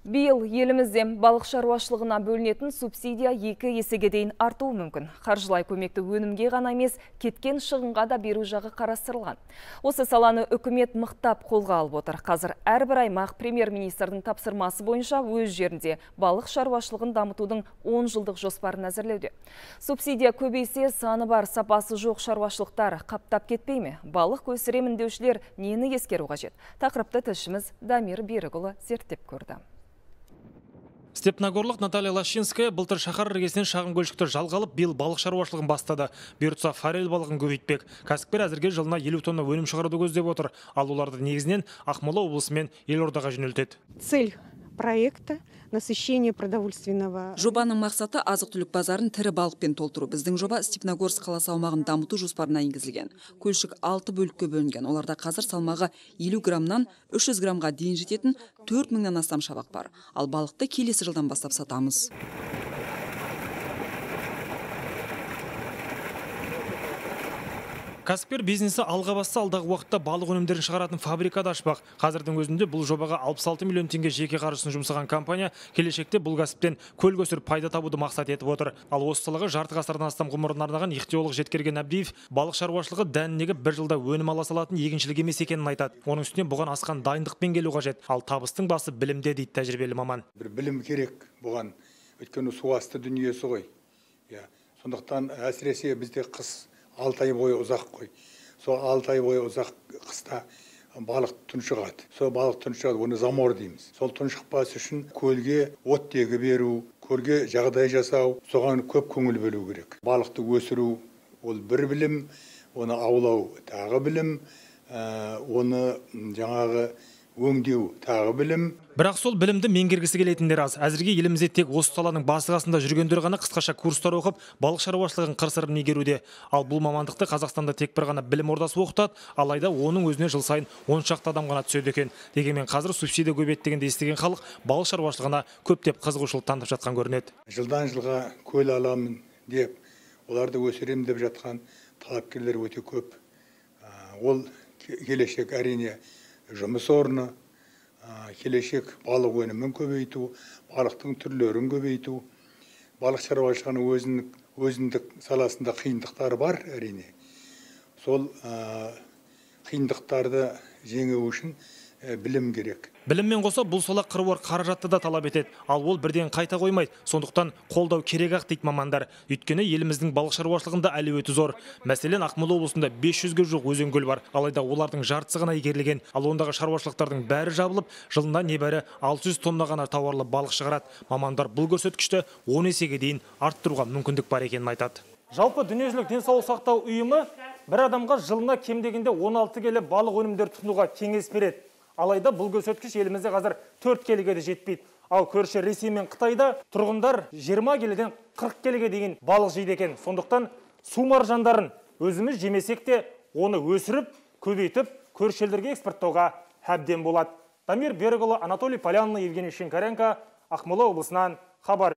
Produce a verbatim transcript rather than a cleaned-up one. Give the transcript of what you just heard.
Биыл елімізде балық шаруашылығына бөлінетін субсидия екі есеге дейін артуы мүмкін. Қаржылай көмекті өнімге ғана емес, кеткен шығынға да беру жағы қарастырылған. Осы саланы үкімет мықтап қолға алып отыр. Қазір әрбір аймақ премьер-министрдің тапсырмасы бойынша өз жерінде балық шаруашылығын дамытудың он жылдық жоспарын әзірлеуде. Субсидия көбейсе, саны бар, сапасы жоқ шаруашылықтар қаптап кетпей ме? Балық өсіремін деушілер нені ескеру қажет? Тақырыпты тілшіміз Дамир Берікұлы зерттеп көрді. Степногорлық Наталья Лащинская былтыр шаһар іргесінен шағын көлшікті жалға алып, биыл балық шаруашылығын бастады. Бұйыртса форель балығын көбейтпек. Кәсіпкер әзірге жылына елу тонна өнім шығаруды көздеп отыр. Ал оларды негізінен Ақмола облысы мен Елордаға жөнелтеді. Цель проекта насыщение продовольственного. Жобаның мақсаты азық-түлік базарын тірі балықпен толтыру. Біздің жоба Степногорск қаласы аумағын дамыту жоспарына енгізілген. Көлшік алты бөлікке бөлінген. Оларда қазір салмағы елу граммнан үш жүз граммға дейін жететін төрт мыңнан астам шабақ бар. Ал балықты келесі жылдан бастап сатамыз. Кәсіпкер бизнесі алға басса, алдағы уақытта балық өнімдерін шығаратын фабрикада ашпақ. Қазірдің өзінде бұл жобаға алпыс алты миллион теңге жеке қаржысын жұмсаған компания келешекте бұл кәсіптен көл көсіріп пайда табуды мақсат етіп отыр. Ал осы салаға жарты ғасырдан астам ғұмырын арнаған ихтиолог Жеткерген Әбдиев балық шаруашылығы дәнінегі бір жылда өнім ала салатын егіншілік емес екенін айтады. Оның үстіне бұған асқан дайындықпен келу қажет. Ал табыстың басы білімде дейді тәжірибелі маман. Бір білім керек бұған. Өйткені су асты дүниесі ғой. Сондықтан әсіресе бізде қыс алты ай бойы ұзақ қой. Сол алты ай бойы ұзақ қыста балық тұншығады. Сол балық тұншығады, оны замор дейміз. Сол тұншықпас үшін көлге оттегі беру, көлге жағдай жасау, соған көп көңіл бөлу керек. Балықты өсіру ол бір білім, оны аулау тағы білім, оны жаңағы өңдеу тағы білім. Бірақ сол білімді меңгергісі келетіндер аз. Әзірге елімізде тек осы саланың басы-қасында жүргендер ғана қысқаша курстар оқып, балық шаруашылығын қыр-сырын меңгеруде. Ал бұл мамандықты Қазақстанда тек бір ғана білім ордасы оқытады, алайда оның өзіне жыл сайын он шақты адам ғана түседі екен. Дегенмен қазір субсидия көбейді дегенді естіген халық балық шаруашылығына көптеп қызығушылық танытып жатқан көрінеді. Жылдан жылға көл аламын деп, оларды өсірем деп жатқан талапкерлер өте көп. Ол келешек әрине жұмыс орны, келешек балық өнімін көбейту, балықтың түрлерін көбейту. Балық шаруашылығының өзіндік саласында қиындықтары бар әрине. Сол қиындықтарды жеңу үшін білім керек. Біліммен қоса бұл сала қыруар қаражатты да талап етеді. Ал ол бірден қайта қоймайды. Сондықтан қолдау керек ақ дейді мамандар. Өйткені еліміздің балық шаруашылығында әлеуеті зор. Мәселен, Ақмола облысында бес жүзге жуық өзен-көл бар. Алайда олардың жартысы ғана игерілген. Ал ондағы шаруашылықтардың бәрі жабылып, жылына небәрі алты жүз тонна ғана тауарлы балық шығарады. Мамандар бұл көрсеткішті он есеге дейін арттыруға мүмкіндік бар екенін айтады. Жалпы дүниежүзілік денсаулық сақтау ұйымы бір адамға жылына кем дегенде он алты келі балық өнімдер тұтынуға кеңес береді. Алайда бұл көрсеткіш елімізде қазір төрт келіге де жетпейді. Ал көрші Ресей мен Қытайда тұрғындар жиырма келіден қырық келіге дейін балық жейді екен. Сондықтан су маржандарын өзіміз жемесек те оны өсіріп, көбейтіп, көрші елдерге экспорттауға әбден болады. Дамир Берікұлы, Анатолий Полянный, Евгений Шинкаренко, Ақмола облысынан хабар.